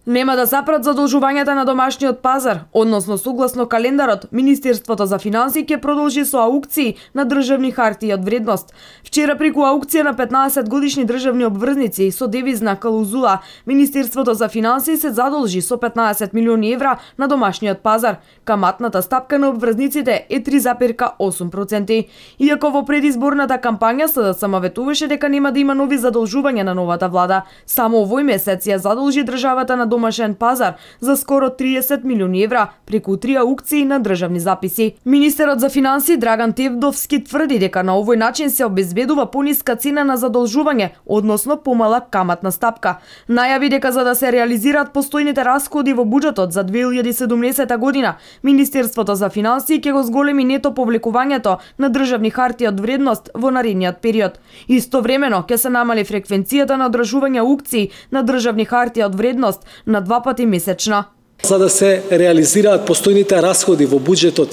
Нема да запрат задолжувањата на домашниот пазар, односно согласно календарот, Министерството за финансии ќе продолжи со аукции на државни хартии од вредност. Вчера преку аукција на 15 годишни државни обврзници со девизна клаузула, Министерството за финансии се задолжи со 15 милиони евра на домашниот пазар. Каматната стапка на обврзниците е 3,8%. Иако во предизборната кампања СДСМ ветуваше дека нема да има нови задолжувања на новата влада, само овој месец ја задолжи државата на домашен пазар за скоро 30 милиони евра преку 3 аукции на државни записи. Министерот за финансии Драган Тевдовски тврди дека на овој начин се обезбедува пониска цена на задолжување, односно помала каматна стапка. Најави дека за да се реализираат постојните расходи во буџетот за 2017 година, Министерството за финансии ќе го зголеми нето повлекувањето на државни хартии од вредност во наредниот период. Истовремено ќе се намали фреквенцијата на одржување аукции на државни хартии од вредност на 2 пати месечно. За да се реализираат постојните расходи во буџетот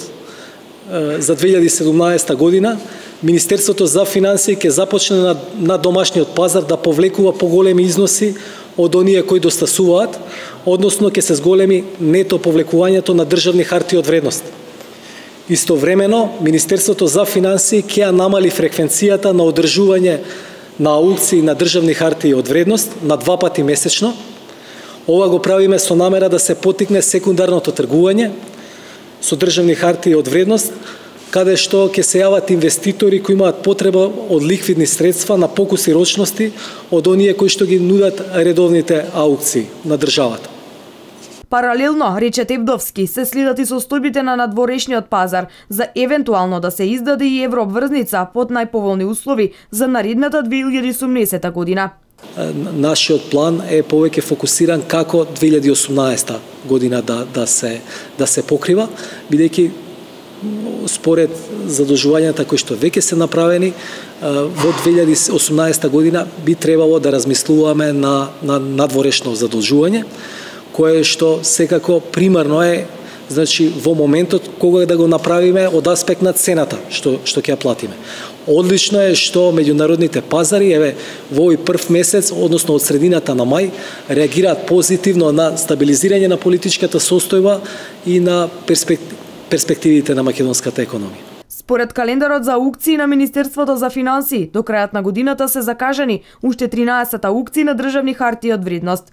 за 2017 година, Министерството за финансии ќе започне на домашниот пазар да повлекува поголеми износи од оние кои достасуваат, односно ќе се зголеми нето повлекувањето на државни хартии од вредност. Истовремено, Министерството за финансии ќе намали фреквенцијата на одржување на аукции на државни хартии од вредност на 2 пати месечно. Ова го правиме со намера да се поттикне секундарното тргување со државни хартии од вредност, каде што ќе се јават инвеститори кои имаат потреба од ликвидни средства на покуси рочности од оние кои што ги нудат редовните аукции на државата. Паралелно, рече Тевдовски, се следат и состојбите на надворешниот пазар за евентуално да се издаде и еврообврзница под најповолни услови за наредната 2018 година. Нашиот план е повеќе фокусиран како 2018 година да се покрива, бидејќи според задолжувањата кои што веќе се направени во 2018 година би требало да размислуваме на надворешно задолжување, кое што секако примарно е, значи во моментот кога да го направиме од аспект на цената што ќе ја платиме. Одлично е што меѓународните пазари во овој прв месец, односно од средината на мај, реагираат позитивно на стабилизирање на политичката состојба и на перспективите на македонската економија. Според календарот за аукции на Министерството за финансии, до крајот на годината се закажани уште 13 аукции на државни хартии од вредност.